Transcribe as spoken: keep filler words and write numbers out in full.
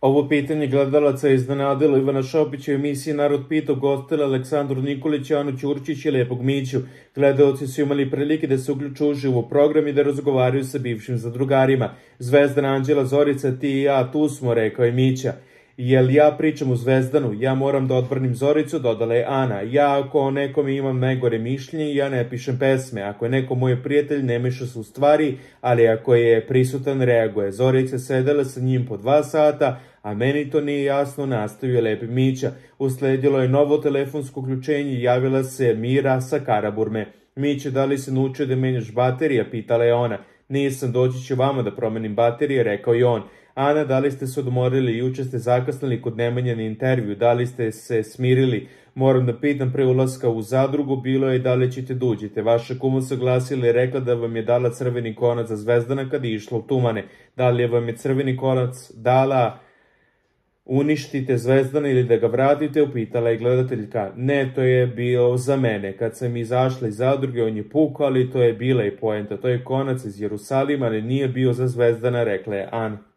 Ovo pitanje gledalaca je iznenadilo Ivana Šopića u emisiji Narod pita, gostila Aleksandru Nikolić, Anu Ćurčić i Lepog Miću. Gledalci su imali prilike da se uključu uživo u program i da razgovaraju sa bivšim zadrugarima. Zvezdana Anđela Zorica, ti i ja, tu smo, rekao je Mića. Jel ja pričam u Zvezdanu, ja moram da odbranim Zoricu, dodala je Ana. Ja ako o nekome imam najgore mišljenje, ja ne pišem pesme. Ako je neko moj prijatelj, ne meša se u stvari, ali ako je prisutan, reaguje. Zorica sedela sa njim po dva sata, a meni to nije jasno, nastavio je Lepi Mića. Usledilo je novo telefonsko uključenje i javila se Mira sa Karaburme. Mića, da li se naučio da menjaš baterija, pitala je ona. Nisam, doći ću vama da promenim baterije, rekao je on. Ana, da li ste se odmorili, juče ste zakasnili kod Nemanje na intervju, da li ste se smirili? Moram da pitam, pre ulaska u zadrugu bilo je da li ćete da uđete. Vaša kuma se glasila i rekla da vam je dala crveni konac za Zvezdana kad je išla u Tumane. Da li vam je crveni konac dala uništite Zvezdana ili da ga vratite, upitala je gledateljka. Ne, to je bio za mene. Kad sam izašla iz zadruge, on je pukao, ali to je bila i poenta. To je konac iz Jerusalima, ali nije bio za Zvezdana, rekla je Ana.